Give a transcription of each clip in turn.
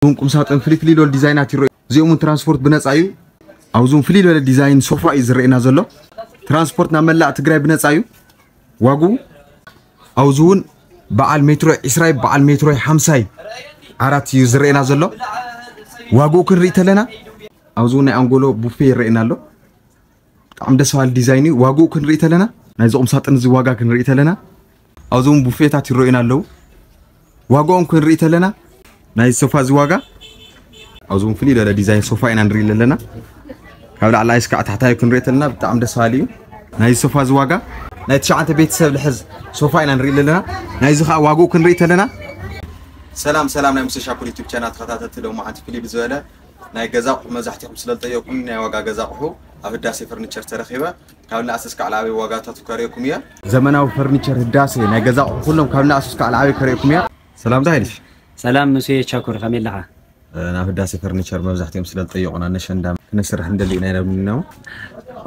እዞም ቁምሳጥን ፍልይ ፍልይ ዝበሉ ዲዛይናት ይረኣዩ። እዚኦም እውን ትራንስፖርት ብነፃ እዩ። ኣብዚ እውን ፍልይ ዝበለ ዲዛይን ሶፋ እዩ ዝረኣየና ዘሎ። ትራንስፖርት ናብ መላእ ትግራይ ብነፃ እዩ። ዋግኡ ኣብዚ እውን በዓል ሜትሮ ዕስራይ በዓል ሜትሮ ሓምሳይ ዓራት እዩ ዝረኣየና ዘሎ። ዋግኡ ክንርኢ ተለና ኣብዚ እውን ናይ ኣንጎሎ ቡፌ ይረኣየና ኣሎ። ብጣዕሚ ደስ በሃሊ ዲዛይን እዩ። ዋግኡ ክንርኢ ተለና ናይዚ ቁምሳጥን እዚ ዋጋ ክንርኢ ተለና ኣብዚ እውን ቡፌታት ይረኣዩና ኣለዉ። ዋጋኦም ክንርኢ ተለና ናይ ሶፋ እዚ ዋጋ ኣብዚ እውን ፍልይ ዝበለ ዲዛይን ሶፋ ኢና ንርኢ ዘለና። ካብ ላዕላይ እስካዕ ታሕታይ ክንርኢ ተለና ብጣዕሚ ደስ በሃሊ እዩ። ናይ ሶፋ እዚ ዋጋ ናይ ትሽዓተ ቤተሰብ ልሕዝ ሶፋ ኢና ንርኢ ዘለና። ናይዚ ከዓ ዋግኡ ክንርኢ ተለና ሰላም ሰላም ናይ ሙሴ ሻኩር ዩቱብ ቻናል ተኸታተልቲ ሎማዓንቲ ፍልይ ብዝበለ ናይ ገዛ ኣቑሑ መብዛሕትኹም ስለ ዝጠየቁኒ ናይ ዋጋ ገዛ ኣቑሑ ኣብ ህዳሴ ፈርኒቸር ተረኺበ ካብ ንኣስ እስካዕ ላዕበይ ዋጋታቱ ከርእየኩም እየ። ዘመናዊ ፈርኒቸር ህዳሴ ናይ ገዛ ኣቑሑ ኩሎም ካብ ንኣስ እስካዕ ላዕበይ ከርእየኩም እየ። ሰላምታ ይልሽ። ሰላም ሙሴ ቻኩር ከመይ ኣለኻ? ናብ ህዳሴ ፈርኒቸር መብዛሕትኦም ስለ ዝጠየቁና ነሸንዳ ክነስርሕ እንደሊ ኢና ኢሎም ነው።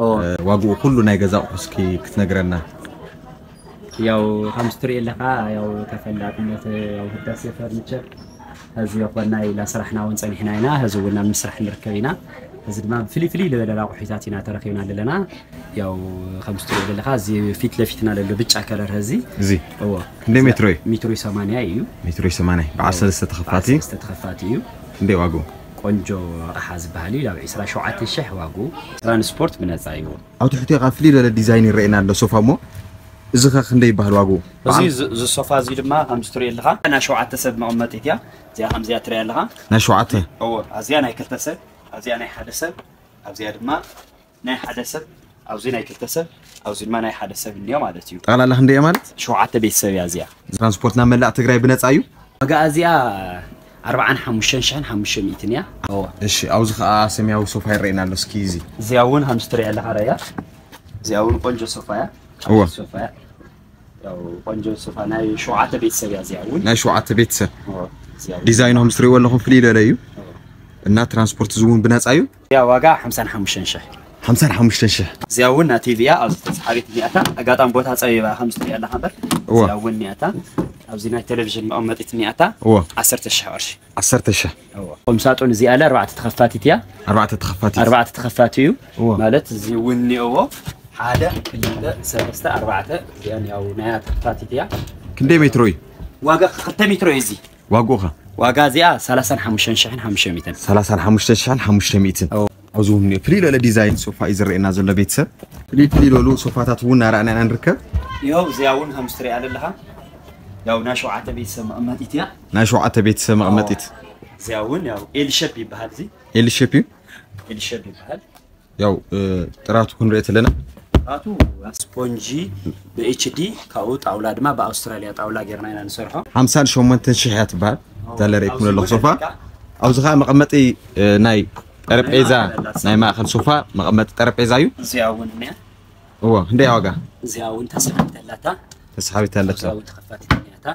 ኦ። ዋግኡ ኩሉ ናይ ገዛ ኣቑሑ እስኪ ክትነግረና። ያው ከምዚ ትሪኦ ኣለኻ ያው ተፈላጥነት ያው ህዳሴ ፈርኒቸር ሕዚ ይኾና ኢላ ስራሕና እውን ጸኒሕና ኢና። ሕዚ እውን ኣብ ምስራሕ ንርከብ ኢና። ሕዚ ድማ ፍልይ ፍልይ ዝበለ ኣቑሑታት ኢና ተረኺብና ዘለና። ያው ከምዚ ትሪኦ ዘለኻ እዚ ፊት ለፊትና ዘሎ ብጫ ከለር ሕዚ እዚ እዎ። ክንደይ ሜትሮ እዩ? ሜትሮ ሰማንያ እዩ። ሜትሮ ሰማንያ በዓል ሰለስተ ተኸፋቲ። በዓል ሰለስተ ተኸፋቲ እዩ። ክንደይ ዋግኡ? ቆንጆ ኣቕሓ ዝበሃል እዩ። ያው ዕስራ ሸውዓተ ሽሕ ዋግኡ። ትራንስፖርት ብነጻ እዩ። ኣብ ትሕቲ ኸዓ ፍልይ ዝበለ ዲዛይን ይረኣየና ኣሎ ሶፋ እሞ እዚ ኸ ክንደይ ይበሃል ዋግኡ? እዚ በዓል ዝ- እዚ ሶፋ እዚ ድማ ከምዚ ትሪኦ ኣለኻ ናይ ሸውዓተ ሰብ መቐመጢት እያ። እዚኣ ከምዚኣ ትሪኣ ኣለኻ። ናይ ሸውዓተ? እዎ፣ ኣዚኣ ናይ ክልተ ሰብ፣ ኣዚኣ ናይ ሓደ ሰብ፣ ኣብዚኣ ድማ ናይ ሓደ ሰብ፣ ኣብዚ ናይ ክልተ ሰብ፣ ኣብዚ ድማ ናይ ሓደ ሰብ እንዮ ማለት እዩ። ጠቕላላ ክንደይ እያ ማለት? ሸውዓተ ቤተሰብ እያ እዚኣ። ትራንስፖርት ናብ መላእ ትግራይ ብነፃ እዩ? ዋጋ እዚኣ ኣርባዓን ሓሙሽተን ሽሕን ሓሙሽተ ሚእትን እያ። እዎ። እሺ፣ ኣብዚ ኸዓ ሰማያዊ ሶፋ ይረኣየና ኣሎ። እስኪ እዚ እዚኣ እውን ከምዚ ትሪኣ ኣለኻ ራያ። እዚኣ እውን ቆንጆ ሶፋ እያ። እዎ። ሶፋ እያ። ያው ቆንጆ ሶፋ ናይ ሸውዓተ ቤተሰብ እያ እዚኣ እውን። ናይ ሸውዓተ ቤተሰብ። እዎ። እዚኣ እውን። ዲዛይኑ ከምዚ ትሪእዎ ኣለኹም ፍልይ ዝበለ እዩ። እዎ። እና ትራንስፖርት እዚ እውን ብነፃ እዩ። እዚኣ ዋጋ ሓምሳን ሓሙሽተን ሽሕ። ሓምሳን ሓሙሽተን ሽሕ። እዚኣ እውን ናተይ እያ ኣብዚ ተሰሓቢት እኒኣታ። ኣጋጣሚ ቦታ ፀቢባ ከምዚ ትሪኣ ኣለኻ እምበር። እዎ። እዚኣ እውን እኒኣታ። ኣብዚ ናይ ቴሌቪዥን መቐመጢት እኒኣታ። እዎ። ዓሰርተ ሽሕ ቅርሺ። ዓሰርተ ሽሕ። እዎ። ቁም ሳጥን እዚኣ ኣለ ኣርባዕተ ተኸፋቲት እያ። ኣርባዕተ ተኸፋቲት። ኣርባዕተ ተኸፋቲ እዩ። እዎ። ማለት እዚ እውን እኒኦዎ ሓደ፣ ክልተ፣ ሰለስተ፣ ኣርባዕተ እዚኣን ያው ናያ ተኸፋቲት እያ። ክንደይ ሜትሮ እዩ? ዋጋ ክልተ ሜትሮ እዩ እዚ። ዋግኡ ኸ? ዋጋ እዚኣ ሰላሳን ሓሙሽተን ሽሕን ሓሙሽተ ሚእትን። ሰላሳን ሓሙሽተን ሽሕን ሓሙሽተ ሚእትን። እዎ። ኣብዚ እውን ፍልይ ዝበለ ዲዛይን ሶፋ እዩ ዝረኣየና ዘሎ ቤተሰብ። ፍልይ ፍልይ ዝበሉ ሶፋታት እውን እናረኣና ኢና ንርከብ። ይኸው እዚኣ እውን ከምዚ ትሪኣ ዘለኻ ያው ናይ ሸውዓተ ቤተሰብ መቐመጢት እያ። ናይ ሸውዓተ ቤተሰብ መቐመጢት። እዚኣ እውን ያው ኤል ሼፕ ይበሃል እዚ። ኤል ሼፕ እዩ? ኤል ሼፕ ይበሃል። ያው፣ እ፣ ጥራቱ ክንሪኦ ተለና? ጥራቱ ስፖንጂ ብ ኤች ዲ ካብኡ ጣውላ ድማ ብኣውስትራልያ ጣውላ ጌርና ኢና ንሰርሖ። ሓምሳን ሸሞንተን ሽሕ እያ ትበሃል። እዛ ለርእየኩም ዘለኹ ሶፋ። ኣብዚ ኸዓ መቐመጢ፣ እ፣ ናይ ጠረጴዛ፣ ናይ ማእኸል ሶፋ መቐመጢ ጠረጴዛ እዩ። እዚኣ እውን እኒኣ። እዎ፣ ክንደይ ዋጋ? እዚኣ እውን ተሰሓቢት ኣላታ። ተሰሓቢት ኣለታ። እዚኣ እውን ተኸፋቲት እኒኣታ።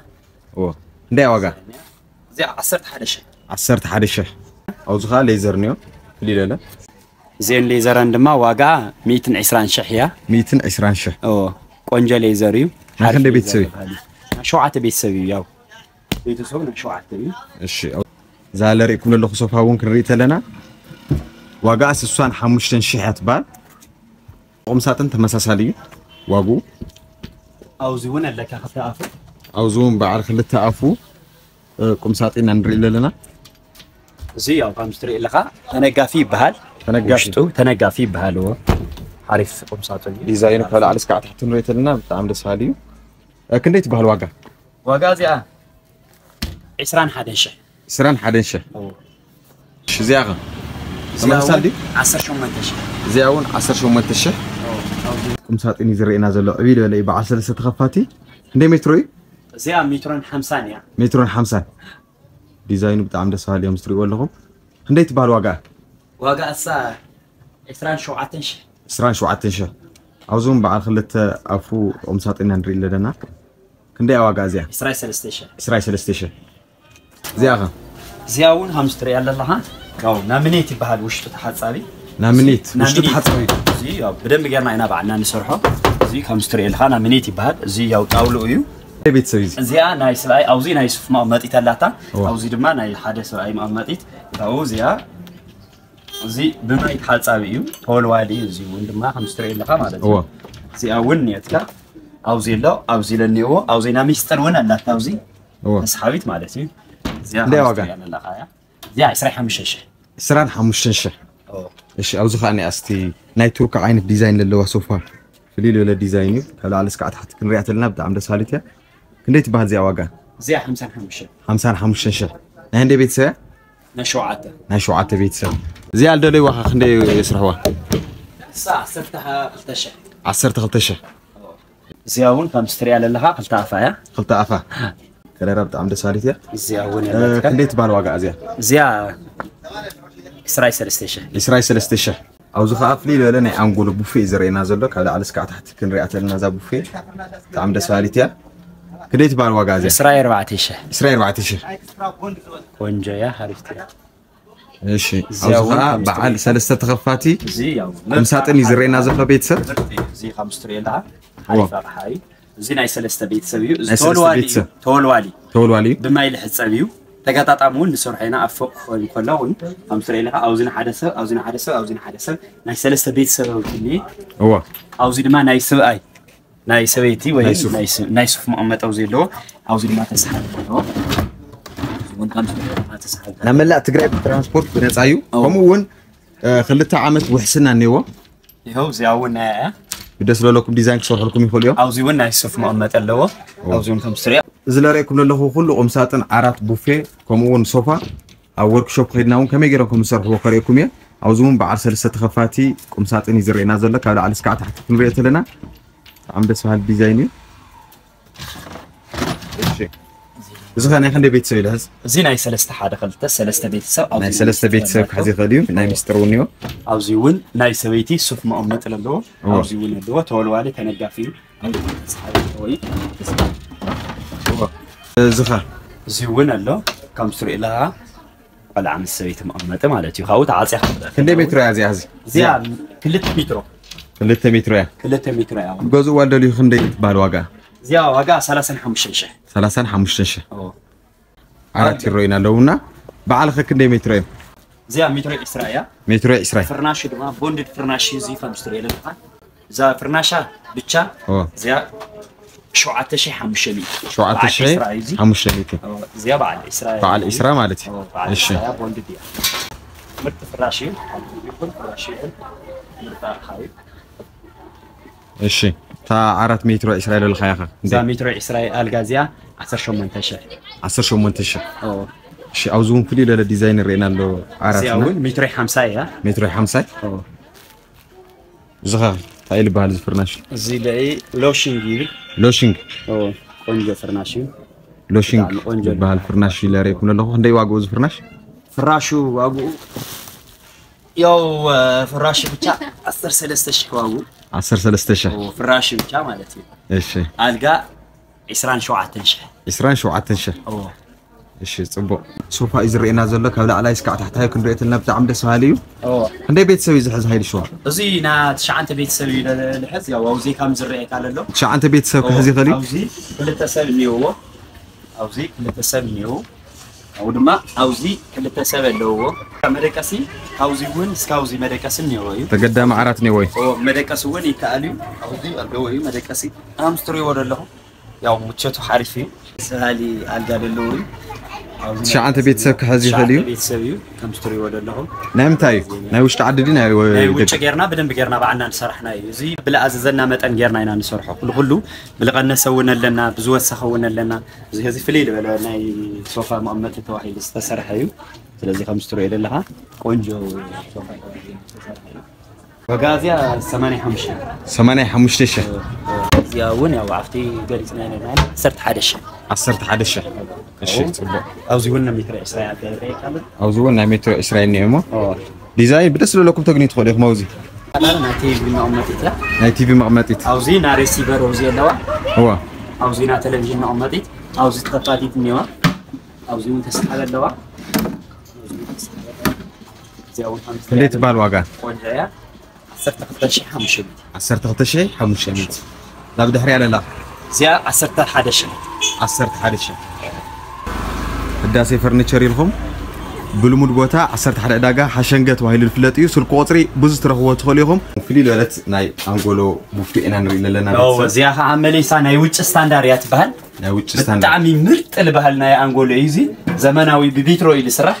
እዎ፣ ክንደይ ዋጋ? እዚኣ ዓሰርተ ሓደ ሽሕ። ዓሰርተ ሓደ ሽሕ። ኣብዚ ኸዓ ሌዘር እኒኦ፣ ፍልይ ዝበለ። እዚአን ሌዘረን ድማ ዋጋ ሚእትን ዕስራን ሽሕ እያ። ሚእትን ዕስራን ሽሕ። እዎ፣ ቆንጆ ሌዘር እዩ። ናይ ክንደይ ሓሪፍ ቤተሰብ ሌዘር እዩ? ይበሃል። ናይ ሸውዓተ ቤተሰብ እዩ፣ ያው ቤተሰቡ ናይ ሸውዓተ እዩ። እሺ፣ እዛ ለርእየኩም ዘለኹ ሶፋ እውን ክንርኢ ተለና ዋጋ ስሳን ሓሙሽተን ሽሕ እያ ትበሃል። ቁም ሳጥን ተመሳሳሊ እዩ ዋግኡ። ኣብዚ እውን ኣለካ ክልተ ኣፉ። ኣብዚ እውን በዓል ክልተ ኣፉ፣ እ፣ ቁም ሳጥን ኢና ንርኢ ዘለና። እዚ ያው ከምዚ ትሪኦ ኣለኻ ተነጋፊ ይበሃል። ተነጋፊ። ውሽጡ ተነጋፊ ይበሃል። እዎ። ሓሪፍ ቁም ሳጥን እዩ። ዲዛይኑ ካብ ላዕሊ እስካዕ ታሕቲ ንሪኦ ተለና ብጣዕሚ ደስ በሃሊ እዩ። እ፣ ክንደይ ትበሃል ዋጋ? ዋጋ እዚኣ ዕስራን ሓደን ሽሕ። ዕስራን ሓደን ሽሕ። እዎ። እሺ፣ እዚኣ ኸ? እዚኣ ተመሳሳሊ እውን ድዩ? ዓሰርተ ሸሞንተ ሽሕ። እዚኣ እውን ዓሰርተ ሸሞንተ ሽሕ። እዎ። ቁም ሳጥን እዩ ዝረአየና ዘሎ። ዕብይ ዝበለ እዩ፣ በዓል ሰለስተ ተኸፋቲ። ክንደይ ሜትሮ እዩ? እዚኣ ሜትሮን ሓምሳን እያ። ሜትሮን ሓምሳን። ዲዛይኑ ብጣዕሚ ደስ በሃሊ እዮም፣ እዚ ትሪእዎ ኣለኹም። ክንደይ ትበሃል ዋጋ? ዋጋ እሳ ዕስራን ሸውዓተን ሽሕ። ዕስራን ሸውዓተን ሽሕ። ኣብዚ እውን በዓል ክልተ ኣፉ ቁም ሳጥን ኢና ንርኢ ኣለና። ክንደይ ዋጋ እዚኣ? ዕስራን ሰለስተ ሽሕ። ዕስራን ሰለስተ ሽሕ። እዚኣ ኸ? እዚኣ እውን ከምዚ ትሪኣ ኣለኻ። ያው ናሚኔት ይበሃል ውሽጡ ተሓጻቢ። ናሚኔት፣ እዚ ውሽጡ ናሚኔት ተሓጻቢ። እዚ ያው ብደንብ ጌርና ኢና ባዕልና ንሰርሖ። እዚ ከምዚ ትሪኦ ኣለኻ ናሚኔት ይበሃል። እዚ ያው ጣውልኡ እዩ። ቤተሰብ እዚ እዚኣ ናይ ሰብኣይ ኣብዚ ናይ ሱፍ መቐመጢት ኣላታ። ኣብዚ ድማ ናይ ሓደ ሰብኣይ መቐመጢት። ካብኡ እዚኣ እዚ ብማይ ተሓጻቢ እዩ፣ ተወልዋሊ እዩ። እዚ እውን ድማ ከም ትሪኦ ኣለኻ ማለት እዩ። እዚኣ እውን እኒኦትካ ኣብዚ ኣሎ፣ ኣብዚ ለኒእዎ ኣብዚ ናይ ሚስጥር እውን ኣላታ ኣብዚ ተስሓቢት ማለት እዩ። እዚኣ ዋጋ ኣለኻ እያ። እዚኣ ዕስራን ሓሙሽተን ሽሕ። ዕስራን ሓሙሽተን ሽሕ። እሺ፣ ኣብዚ ከዓ ናይ ኣስቲ ናይ ቱርክ ዓይነት ዲዛይን ዘለዋ ሶፋ ፍልይ ዝበለ ዲዛይን እዩ። ካብ ላዕሊ እስካዕ ታሕቲ ክንሪኣ ተለና ብጣዕሚ ደስ ባሃሊት እያ። ክንደይ ትበሃል እዚኣ ዋጋ? እዚኣ ሓምሳን ሓሙሽተን። ሓምሳን ሓሙሽተን ሽሕ። ናይ ህንደይ ቤተሰብ እያ? ናይ ሸውዓተ። ናይ ሸውዓተ ቤተሰብ። እዚኣ ልደለይዋ ከ ክንደይ የስርሕዋ? እሳ ዓሰርተ ክልተ ሽሕ። ዓሰርተ ክልተ ሽሕ። እዚኣ እውን ከም ስትሪያ ዘለኻ ክልተ ኣፋ እያ። ክልተ ኣፋ። ከለራ ብጣዕሚ ደስ ባሃሊት እያ። እዚኣ እውን እ፣ ያለትካ። ክንደይ ትበሃል ዋጋ እዚኣ? እዚኣ ዕስራን ሰለስተን ሽሕ። ዕስራን ሰለስተን ሽሕ። ኣብዚ ከዓ ፍልይ ዝበለ ናይ ኣንጎሎ ቡፌ እዩ ዝረአየና ዘሎ። ካብ ላዕሊ እስካዕ ታሕቲ ክንሪኣ ተለና እዛ ቡፌ ብጣዕሚ ደስ ባሃሊት እያ። ክንደይ ትበሃል ዋጋ እዚኣ? ዕስራን ኣርባዕተን ሽሕ። ዕስራን ኣርባዕተን ሽሕ። ቆንጆ እያ፣ ሓሪፍቲ እያ። እሺ፣ እዚኣ ኣብዚ እውን ከዓ ከም በዓል ስትሪት። ሰለስተ ተኸፋቲ እዚ ያው ቁምሳጥን እዩ ዝረአየና ዘሎ ቤተሰብ። እዚ ከም ስትሪት ኣለካ። ሓሪፍ ኣቕሓ እዩ። እዚ ናይ ሰለስተ ቤተሰብ እዩ። እዚ ናይ ሰለስተ ተወልዋሊ እዩ። ቤተሰብ። ተወልዋሊ። ተወልዋሊ እዩ። ብማይ ልሕጸብ እዩ። ተገጣጣሚ እውን ንሰርሖ ኢና። ኣብ ፎቅ ክኸውን ከሎ እውን ከም ትሪኦ ኣለኻ፣ ኣብዚ ንሓደ ሰብ፣ ኣብዚ ንሓደ ሰብ፣ ኣብዚ ንሓደ ሰብ፣ ናይ ሰለስተ ቤተሰብ እውን እኒኤ። እወ። ኣብዚ ድማ ናይ ሰብኣይ፣ ናይ ሰበይቲ ወይ ናይ ሱፍ። ናይ ስ-፣ ናይ ሱፍ መቐመጢ ኣብዚ ኣለዎ። ኣብዚ ድማ ተስሓቢ ኣለዎ። እዚ እውን ከም ትሪኦ ኣለኻ ተስሓቢ። ናብ መላእ ትግራይ ብትራንስፖርት ብነፃ እዩ። እወ። ከምኡ እውን፣ እ፣ ክልተ ዓመት ውሕስና እኒአዎ። ይኸው እዚኣ እውን ናያ እያ። ብደስ ዝበለኩም ዲዛይን ክሰርሑልኩም ይኽእሉ እዮም። ኣብዚ እውን ናይ ሱፍ መቐመጢ ኣለዎ። ኣብዚ እውን ከም ትሪኦ። እዚ ለርእየኩም ዘለኹ ኩሉ ቁምሳጥን፣ ዓራት፣ ቡፌ፣ ከምኡ እውን ሶፋ ኣብ ወርክሾፕ ከይድና እውን ከመይ ገይሮም ከም ዝሰርሕዎ ከርእየኩም እየ። ኣብዚ እውን በዓል ሰለስተ ተኸፋቲ ቁምሳጥን እዩ ዝረአየና ዘሎ። ካብ ላዕሊ እስካዕ ታሕቲ ክንሪኦ ተለና ብጣዕሚ ደስ በሃሊ ዲዛይን እዩ። እሺ። እዚ ኸ ናይ ክንደይ ቤተሰብ ይልሕዝ? እዚ ናይ ሰለስተ ሓደ ክልተ ሰለስተ ቤተሰብ ኣብዚ ናይ ሰለስተ ቤተሰብ ክሕዝ ይኽእል እዩ። ናይ ሚስጥር እውን እዩ። ኣብዚ እውን ናይ ሰበይቲ ሱፍ መቐመጢ ኣለዎ። እወ። ኣብዚ እውን ኣለዎ። ተወልዋሊ ተነጋፊ እዩ። ኣብዚ እውን ተስሓቢ ኣለዎ እዩ። እዚ ኸ? እዚ እውን ኣሎ። ከም ትሪኦ ኣለኻ ቆልዓ ምስ ሰበይቲ መቐመጢ ማለት እዩ። ካብኡ ተዓፅያ ክትበል። ክንደይ ሜትሮ እያ እዚኣ? እዚ እዚኣ ክልተ ሜትሮ። ክልተ ሜትሮ እያ። ክልተ ሜትሮ እያ። ክገዝእዋ ዝደልዩ ክንደይ ትበሃል ዋጋ? እዚኣ ዋጋ ሰላሳን ሓሙሽተን ሽሕ። ሰላሳን ሓሙሽተን ሽሕ። ኦ። ዓራት ይረአዩና ኣለውና። በዓል ኸ ክንደይ ሜትሮ እዮም? እዚኣ ሜትሮ ዕስራ እያ። ሜትሮ ዕስራ። ፍርናሹ ድማ ቦንድድ ፍርናሽ እዩ። እዚ ከም ትሪኦ ዘለኻ እዛ ፍርናሻ ብቻ ኦ። እዚኣ ሸውዓተ ሽሕ ሓሙሽተ ሚእቲ። ሸውዓተ ሽሕ በዓል ዕስራ እዩ እዚ። ሓሙሽተ ሚእቲ። ኦ፣ እዚኣ በዓል ዕስራ በዓል እዩ። ዕስራ ማለት እዩ። ኦ፣ በዓል እሺ። ዕስራ እያ፣ ቦንድድ እያ። ምርጥ ፍራሽ እዩ። ይኹን ፍራሽ ይኹን ምርጥ ኣቕሓ እዩ። እሺ። እታ ዓራት ሜትሮ ዕስራ ኢለልካ ኢኻ። እዛ ሜትሮ ዕስራ ኣልጋ እዚኣ ዓሰርተ ሸሞንተ ሽሕ። ዓሰርተ ሸሞንተ ሽሕ። ኦ። እሺ፣ ኣብዚ እውን ፍልይ ዝበለ ዲዛይን ይረአየና ኣሎ። ዓራት እዚኣ እና እውን ሜትሮ ሓምሳ እያ። ሜትሮ ሓምሳ። ኦ። እዚ ኸ እንታይ ይበሃል እዚ ፍርናሽ? እዚ ለኢ ሎሽንግ ይብል። ሎሽንግ። ኦ፣ ቆንጆ ፍርናሽ እዩ። ሎሽንግ ብጣዕሚ ቆንጆ ይበሃል ፍርናሽ እዩ ለርእየኩም ዘለኹ። ክንደይ ዋግኡ እዚ ፍርናሽ? ፍራሹ ዋግኡ ያው፣ እ፣ ፍራሹ ብቻ ዓሰርተ ሰለስተ ሽሕ ዋግኡ። ዓሰርተ ሰለስተ ሽሕ። ኦ፣ ፍራሹ ብቻ ማለት እዩ። እሺ። ኣልጋ ዕስራን ሸውዓተን ሽሕ። ዕስራን ሸውዓተን ሽሕ። ኦ። እሺ፣ ጽቡቕ። ሶፋ እዩ ዝረአየና ዘሎ፣ ካብ ላዕላይ እስካዕ ታሕታይ ክንሪኦ ተለና ብጣዕሚ ደስ በሃሊ እዩ። ኦ። ክንደይ ቤተሰብ እዩ ዝሕዝ ሃይሉ ሸዋ? እዚ ና ትሽዓንተ ቤተሰብ እዩ ለ-፣ ልሕዝ፣ ያው ኣብዚ ከም ዝረአየካ ዘሎ። ትሽዓንተ ቤተሰብ ኦ፣ ክሕዝ ይኽእል እዩ? ኣብዚ ክልተ ሰብ እኒኦዎ። ኣብዚ ክልተ ሰብ እኒኦዎ። ኣብኡ ድማ ኣብዚ ክልተ ሰብ ኣለውዎ። መደቀሲ ካብዚ እውን እስካብ ኣብዚ መደቀሲ እኒኦዎ እዩ። ተገዳሚ ዓራት እኒኦዎ እዩ። ኦ፣ መደቀሲ እውን ይከኣል እዩ። ኣብዚ ኣለዎ እዩ መደቀሲ። ኣምስትሪዎ ዘለኹም። ያው ምቸቱ ሓሪፍ እዩ። ሰሃሊ ኣልጋ ዘለዎ እዩ። ኣብዚ ትሽዓተ ቤተሰብ ክሕዝ ይኽእል እዩ። ትሽዓተ ቤተሰብ እዩ። ከም ትሪእዎ ዘለኹም። ናይ ምንታይ እዩ? ናይ ውሽጢ ዓዲ ድዩ ናይ ወ-፣ ናይ ውጭ ደገ? ጌርና ብደንብ ጌርና ባዕልና ንሰራሕና እዩ። እዚ ብዝኣዘዘና መጠን ጌርና ኢና ንሰርሖ። ኩሉ ኩሉ ብዝቐነሰ እውን ኣለና፣ ብዝወሰኸ እውን ኣለና። እዚ እዚ ፍልይ ዝበለ ናይ ሶፋ መቐመጢ ተባሂሉ ዝተሰርሐ እዩ። ስለዚ ከም ትሪኦ ዘለኻ ቆንጆ ሶፋ ተባሂሉ ዝተሰርሐ እዩ። ዋጋ እዚኣ ሰማንያ ሓሙሽተ። ሰማንያ ሓሙሽተ ሽሕ። እዚኣ እውን ያው ኣብቲ ገሊጽና ኢና ዓሰርተ ሓደ ሽሕ። ዓሰርተ ሓደ ሽሕ። እሺ፣ ጽቡቕ። ኣብዚ እውን ናይ ሜትሮ ዕስራ እያ ትረአ። ኣብዚ እውን ናይ ሜትሮ ዕስራ እኒኦ እሞ። ኦ። ዲዛይን ብደስ ዝብለኩም ተግንዩ ትኽእሉ ኢኹም ኣብዚ። ናይ ቲቪ መቐመጢት እያ። ናይ ቲቪ መቐመጢት። ኣብዚ ናይ ሬሲቨር ኣብዚ ኣለዋ። እዋ። ኣብዚ ናይ ቴሌቪዥን መቐመጢት። ኣብዚ ተኸፋቲት እኒዋ። ኣብዚ እውን ተስሓቢ ኣለዋ። እዚኣ እውን ሓሙሽተ ክንደይ እያ። ትበሃል ዋጋ? ቆንጆ እያ። ዓሰርተ ክልተ ሽሕ ሓሙሽተ ሚእቲ። ዓሰርተ ክልተ ሽሕ ሓሙሽተ ሚእቲ። ናብ ድሕሪያ ለላ። እዚኣ ዓሰርተ ሓደ ሽሕ። ዓሰርተ ሓደ ሽሕ። ህዳሴ ፈርኒቸር ኢልኩም ብልሙድ ቦታ ዓሰርተ ሓደ ዕዳጋ ሓሸንገ ተባሂሉ ዝፍለጥ እዩ። ስልኪ ቁፅሪ ብዙ ትረኽብዎ ትኽእሉ ኢኹም። ፍልይ ዝበለት ናይ ኣንጎሎ ቡፌ ኢና ንርኢ ዘለና። ቤተሰብ። እዚኣ ከዓ መሊሳ ናይ ውጭ ስታንዳር እያ ትበሃል። ናይ ውጭ ስታንዳር። ብጣዕሚ ምርጥ ዝበሃል ናይ ኣንጎሎ እዩ። እዚ ዘመናዊ ብቢትሮ እዩ ዝስራሕ።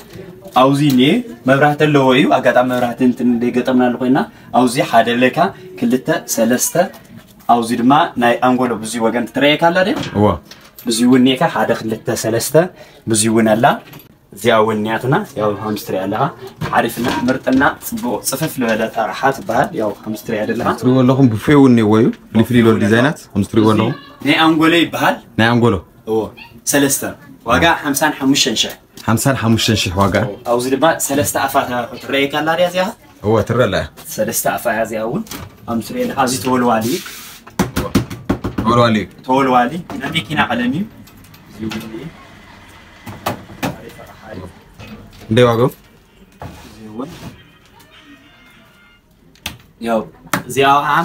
ኣብዚ እኒኤ መብራህቲ ኣለዎ እዩ። ኣጋጣሚ መብራህቲ እንትን ገጠምና ኣለኮ ኢና ኣብዚ ሓደ ለካ ክልተ ሰለስተ ኣብዚ ድማ ናይ ኣንጎሎ ብዙይ ወገን ትረየካ ኣላ ድያ? እዋ ብዙይ እውን እኒኤካ ሓደ ክልተ ሰለስተ ብዙይ እውን ኣላ። እዚኣ እውን እኒኣትና ያው ሃምስትሪ ኣለኻ ሓሪፍና ምርጥና ፅቡቕ ፅፍፍ ዝበለ ኣራሓ ትበሃል። ያው ሃምስትሪ ኣለኻ ትሪእዎ ኣለኹም ብፌ እውን እኒዎ እዩ። ፍልይ ፍልይ ዝበሉ ዲዛይናት ከምዚ ትሪእዎ ኣለኹም። ናይ ኣንጎሎ ይበሃል። ናይ ኣንጎሎ እዎ ሰለስተ ዋጋ ሓምሳን ሓሙሽተን ሽሕ። ሓምሳን ሓሙሽተን ሽሕ ዋጋ። ኣብዚ ድማ ሰለስተ ኣፋ ትረየካ ኣላ ድያ እዚኣ? እወ ትረአ ኣላ። ሰለስተ ኣፋ እያ እዚኣ እውን። ከምዚ ትሪኦ ኣለኻ እዚ ተወልዋሊ እዩ። ተወልዋሊ እዩ። ተወልዋሊ ናይ መኪና ቀለም እዩ። እዚ እውን እዩ። እንደይ ዋጋኡ? እዚ እውን ያው እዚኣ ከዓ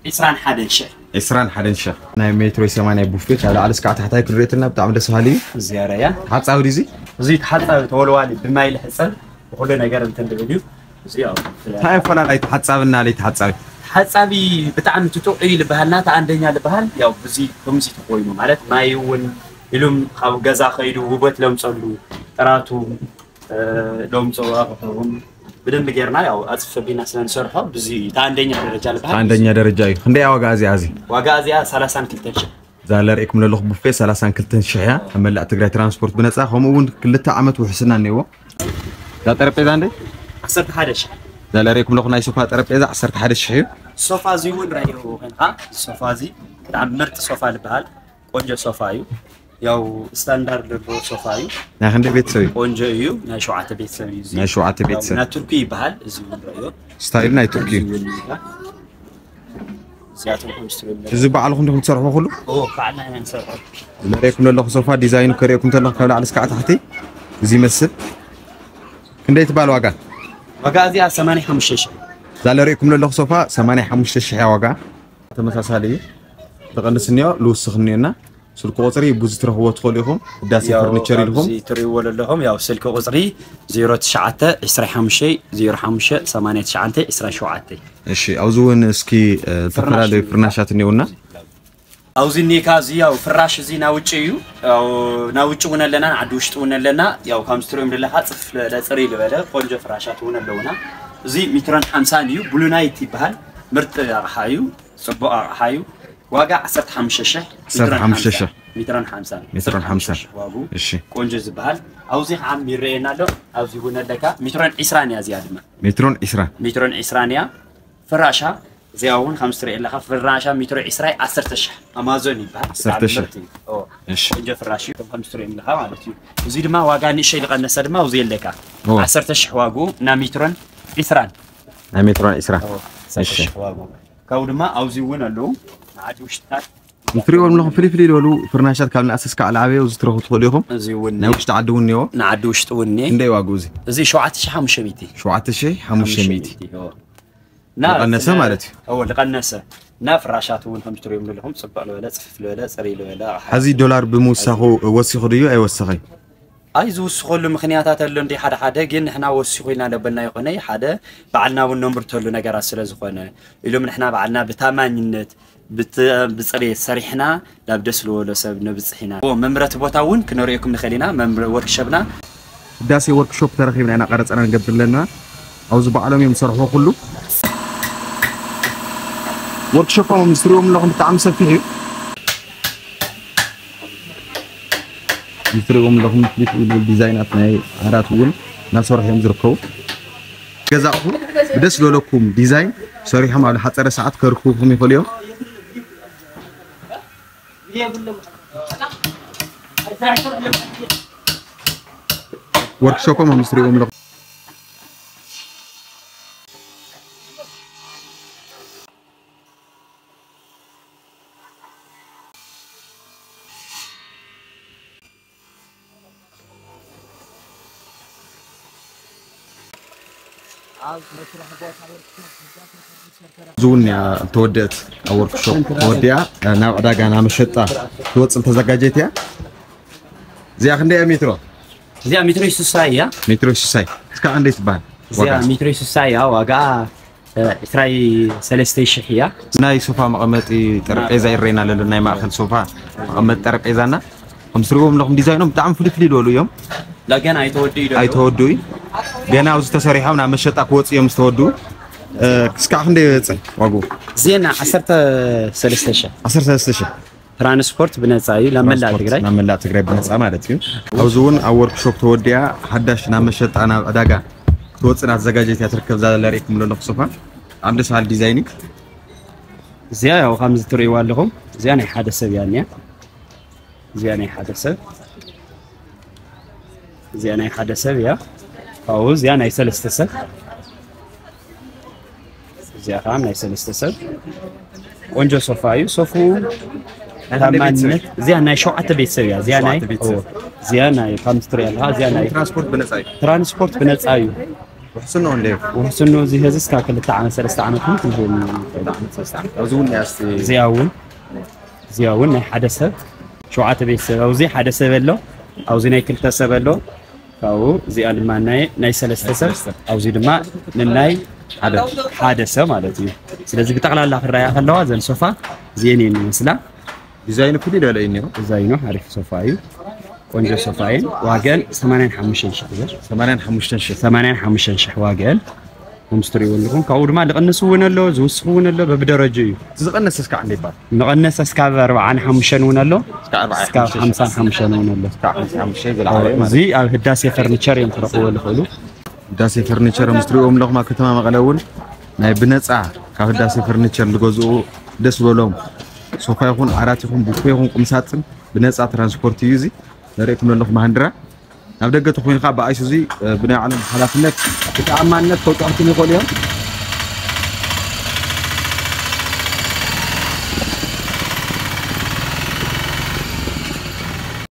ዒስራን ሓደን ሽሕ። ዒስራን ሓደን ሽሕ። ናይ ሜትሮ ሰማንያ ቡፌ ካብ ላዕሊ እስካዕ ታሕታይ ክንሪኦ ተለና ብጣዕሚ ደስ በሃሊ እዩ። እዚኣ ረያ ተሓጻቢ ድዩ እዚ? እዚ ተሓጻቢ ተወልዋሊ ብማይ ልሕጸብ ብኩሉ ነገር እንትን ድብል እዩ። እዚ ያው እንታይ ኣፈላላይ ተሓጻብና ለይተሓጻቢ? ሓጻቢ ብጣዕሚ ትጥዑ እዩ ልበሃልና፣ እቲ ኣንደኛ ልበሃል ያው ብዚ ከምዚ ተኮይኑ ማለት ማይ እውን ኢሉም ካብ ገዛ ከይዱ ውበት ለምፀሉ ጥራቱ እ፣ ለምፀሉ ኣቑሑ እውን ብደንብ ጌርና ያው ኣፅፈቢና ስለ ንሰርሖ ብዚ እቲ ኣንደኛ ደረጃ ልበሃል። ኣንደኛ ደረጃ እዩ። ክንደይ ዋጋ እዚኣ እዚ? ዋጋ እዚኣ ሰላሳን ክልተን ሽሕ። እዛ ለርእኩም ለለኹ ቡፌ ሰላሳን ክልተን ሽሕ እያ። ኣብ መላእ ትግራይ ትራንስፖርት ብነፃ ከምኡ እውን ክልተ ዓመት ውሕስና እኒዎ። እዛ ጠረጴዛ እንደ ዓሰርተ ሓደ ሽሕ። እዛ ለርእኩም ለኹ ናይ ሶፋ ጠረጴዛ ዓሰርተ ሓደ ሽሕ እዩ። ሶፋ እዚ እውን ረእዮ ኮይንካ እዚ ሶፋ እዚ ብጣዕሚ ምርጥ ሶፋ ልበሃል ቆንጆ ሶፋ እዩ። ያው ስታንዳርድ ዘለዎ ሶፋ እዩ። ናይ ክንደይ ቤተሰብ እዩ? ቆንጆ እዩ። ናይ ሸውዓተ ቤተሰብ እዩ። እዚ ናይ ሸውዓተ ያው ቤተሰብ። ናይ ቱርኪ ይበሃል። እዚ እውን ረእዮ ስታይል ናይ ቱርኪ እዩ። እዚኣቶም ኮንስትሩክተር እዚ ባዕልኹም ዲኹም ትሰርሕዎ ኩሉ? ኦ ባዕልና ኢና ንሰርሖ። ዝለርእኩም ዘለኹ ሶፋ ዲዛይኑ ከርእየኩም ተለኹ ካብ ላዕሊ እስካዕ ታሕቲ እዚ ይመስል። ክንደይ ትባል ዋጋ? ዋጋ እዚኣ ሰማንያ ሓሙሽተ ሽሕ። እዛ ለርእኩም ዘለኹ ሶፋ ሰማንያ ሓሙሽተ ሽሕ እያ ዋጋ። ተመሳሳሊ እዩ። ትቐንስ እኒኦ ልውስኽ እኒኦና። ስልኪ ቁፅሪ ብዙ ትረኽብዎ ትኽእሉ ኢኹም። ህዳሴ ያው ፈርኒቸር ኢልኩም። ኣብዚ ትሪእዎ ዘለኹም ያው ስልኪ ቁፅሪ ዜሮ ትሽዓተ ዕስራ ሓሙሽተ ዜሮ ሓሙሽተ ሰማንያ ትሽዓተ ዕስራ ሸውዓተ። እሺ ኣብዚ እውን እስኪ እ፣ ዝተፈላለዩ ፍርናሻት እኒኦና። ኣብዚ እኒካ እዚ ያው ፍራሽ እዚ ናውጭ እዩ። ያው ናውጭ እውን ኣለና ንዓዲ ውሽጢ እውን ኣለና። ያው ከምዚ ትሪኦም ዘለካ ፅፍ ለፅሪ ዝበለ ቆንጆ ፍራሻት እውን ኣለውና። እዚ ሚትሮን ሓምሳን እዩ። ብሉናይት ይበሃል። ምርጥ ኣቕሓ እዩ። ፅቡቕ ኣቕሓ እዩ። ዋጋ ዓሰርተ ሓሙሽተ ሽሕ። ዓሰርተ ሓሙሽተ ሽሕ። ሚትሮን ሓምሳን ሚትሮን ሓምሳን። ዋጉ እሺ። ቆንጆ ዝበሃል ኣብዚ ከዓ ይረአየና ኣሎ። ኣብዚ እውን ኣለካ ሚትሮን ዒስራን እያ እዚኣ ድማ ሜትሮን ዒስራ። ሚትሮን ዒስራን እያ። ፍራሻ እዚኣ እውን ከምዚ ትሪኦ ኣለካ ፍራሻ ሚትሮ ዒስራ ዓሰርተ ሽሕ ኣማዞን ይበሃል። ዓሰርተ ሽሕ። ብጣዕሚ ምርጥ እዩ። ኦ፣ እሺ። ቆንጆ ፍራሽ እዩ። ከምዚ ትሪኦ ኣለካ ማለት እዩ። እዚ ድማ ዋጋ ንእሸይ ዝቐነሰ ድማ ኣብዚ ኣለካ ኦ። ዓሰርተ ሽሕ ዋጉ እና ሚትሮን ዒስራን ናይ ሜትሮን ዒስራ። ኦ፣ ዓሰርተ ሽሕ ዋጉ ካብኡ ድማ ኣብዚ እውን ኣለዉ ንዓዲ ውሽጥታት ንትሪኦም ኣለኹም ፍልይ ፍልይ ዝበሉ ፍርናሻት ካብ ንኣስ እስካዕ ላዕበዮ እዚ ትረኽቡ ትኽእሉ ኢኹም። እዚ እውን ናይ ውሽጢ ዓዲ እውን እኒኦ። ንዓዲ ውሽጢ እውን እኒአ ክንደይ ዋግኡ እዚ? እዚ ሸውዓተ ሽሕ ሓሙሽተ ሚእቲ። ሸውዓተ ሽሕ ሓሙሽተ ሚእቲ። ኦ። እና ዝቐነሰ ስለ- ማለት እዩ። እዎ ዝቐነሰ እና ፍራሻት እውን ከም ትሪኦም ዘለኹም ፅብቕ ዝበለ ፅፍፍ ዝበለ ፅሪ ዝበለ ኣቕሓ። ሕዚ ዶላር ብምውሳኹ ወሲኹ ድዩ ኣይወሰኸይ? ኣይ ዝውስኸሉ ምኽንያታት ኣሎ እንዲ ሓደ ሓደ ግን ንሕና ወሲኹ ኢና ለበልና ይኾነ ሓደ ባዕልና እውን ነምርተሉ ነገራት ስለ ዝኾነ ኢሎም ንሕና ባዕልና ብታማኝነት ብት- ብፅሬት ሰሪሕና ናብ ደስ ዝበሎ ሰብ ነብፅሕ ኢና። እዎ፣ መምረቲ ቦታ እውን ክነርእየኩም ንኽእል ኢና። መምረ- ወርክሸፕና ህዳሴ ወርክሾፕ ተረኺብና ኢና ቀረፃና ንገብር ኣለና። ኣብዚ ባዕሎም እዮም ዝሰርሕዎ ኩሉ። ወርክሾፖም ምስ ትሪእዎም ኣለኹም ብጣዕሚ ሰፊሕ እዩ። ምስ ትሪእዎም ኣለኹም ፍልይ ፍልይ ዲዛይናት ናይ ዓራት እውን እናሰርሑ እዮም ዝርከቡ። ገዛእኹም ብደስ ዝበለኩም ዲዛይን ሰሪሖም ኣብ ዝሓፀረ ሰዓት ከርክቡኹም ይኽእሉ እዮም። ወርክሾፖም ምስ ትሪእዎም ኣለኹም። እዚ እውን እያ ተወደእት ኣብ ወርክሾፕ ተወዲኣ ናብ ዕዳጋ ናብ መሸጣ ትወፅእ ተዘጋጀት እያ። እዚኣ ክንደይ እያ ሜትሮ? እዚኣ ሜትሮ ስሳ እያ። ሜትሮ ስሳይ እስካ ክንደይ ትበሃል? እዚኣ ሜትሮ ስሳ እያ። ዋጋ ዕስራይ ሰለስተ ሽሕ እያ። ናይ ሶፋ መቐመጢ ጠረጴዛ ይረና ለሎ ናይ ማእኸል ሶፋ መቐመጢ ጠረጴዛና ከም ትሪእዎም ኣለኹም ዲዛይኖም ብጣዕሚ ፍልይ ፍልይ ዝበሉ እዮም። ላገን ኣይተወድኡ ይደሉ። ኣይተወድኡ ገና ኣብዚ ተሰሪሖም ናብ መሸጣ ክወፁ እዮም ዝተወድኡ። እስካዕ ክንደይ ይበፅእ ዋግኡ? ዜና ዓሰርተ ሰለስተ ሽሕ። ዓሰርተ ሰለስተ ሽሕ። ትራንስፖርት ብነፃ እዩ ናብ መላእ ትግራይ። ናብ መላእ ትግራይ ብነፃ ማለት እዩ። ኣብዚ እውን ኣብ ወርክሾፕ ተወዲኣ ሓዳሽ ናብ መሸጣ ናብ ዕዳጋ ክትወፅእ እናተዘጋጀት እያ ትርከብ። እዛ ለርእኩም ዘለኹ ሶፋ ብጣዕሚ ደስ በሃሊ ዲዛይን እዩ። እዚኣ ያው ከምዚ ትርእይዋ ኣለኹም እዚኣ ናይ ሓደ ሰብ እያ እኒኣ። እዚኣ ናይ ሓደ ሰብ እዚኣ ናይ ሓደ ሰብ እያ። ካብኡ እዚኣ ናይ ሰለስተ ሰብ እዚኣ ከዓ ናይ ሰለስተ ሰብ ቆንጆ ሶፋ እዩ። ሶፉ ታማነት እዚኣ ናይ ሸውዓተ ቤተሰብ እያ። እዚኣ ናይ እዚኣ ናይ ካምስትሪ ኣለካ እዚኣ ናይ ትራንስፖርት ብነፃ እዩ። ትራንስፖርት ብነፃ እዩ። ውሕስኖ እንደ ውሕስኖ እዚ ህዚ እስካ ክልተ ዓመት ሰለስተ ዓመት እውን ክንህብ ንኽእል። ኣብዚ እውን እያ እስቲ እዚኣ እውን እዚኣ እውን ናይ ሓደ ሰብ ሸውዓተ ቤተሰብ ኣብዚ ሓደ ሰብ ኣሎ። ኣብዚ ናይ ክልተ ሰብ ኣሎ። ካብኡ እዚኣ ድማ ናይ ናይ ሰለስተ ሰብ ኣብዚ ድማ ንናይ ሓደ ሓደ ሰብ ማለት እዩ። ስለዚ ብጠቕላላ ክረኣያ ከለዋ ዘን ሶፋ እዚአን እየን ይመስላ። ዲዛይኑ ፍሉይ ደለ እዩ እኒኦ። ዲዛይኑ ሓሪፍ ሶፋ እዩ። ቆንጆ ሶፋ እየን። ዋገን ሰማንያን ሓሙሽተን ሽሕ እየን። ሰማንያን ሓሙሽተን ሽሕ። ሰማንያን ሓሙሽተን ሽሕ ዋገን። ከምዚ ትሪእዎ ኣለኹም ካብኡ ድማ ዝቕንስ እውን ኣሎ ዝውስኽ እውን ኣሎ በብደረጁ እዩ። ዝቐነሰ እስካዕ እንደ ይባል መቐነስ እስካብ ኣርባዓን ሓሙሽተን እውን ኣሎ። እስካብ ኣርባዓን እስካብ ሓምሳን ሓሙሽተን እውን ኣሎ። እስካብ ሓምሳን ሓሙሽተን ዝለዓለ ማለት እዚ ኣብ ህዳሴ ፈርኒቸር እዮም ክረኽብዎ ዝኽእሉ። ህዳሴ ፈርኒቸር ምስ ትሪእዎም ኣለኹም ኣብ ከተማ መቐለ እውን ናይ ብነፃ ካብ ህዳሴ ፈርኒቸር ዝገዝኡ ደስ ዝበሎም ሶፋ ይኹን ዓራት ይኹን ቡፌ ይኹን ቁምሳጥን ብነፃ ትራንስፖርት እዩ። እዚ ዘርእኩም ዘለኹ ማሃንድራ ናብ ደገ ተኮይኑ ከዓ ብኣይሱዚ ብናይ ባዕሎም ሓላፍነት ብተኣማንነት ከውፅኣልኩም ይኽእሉ እዮም።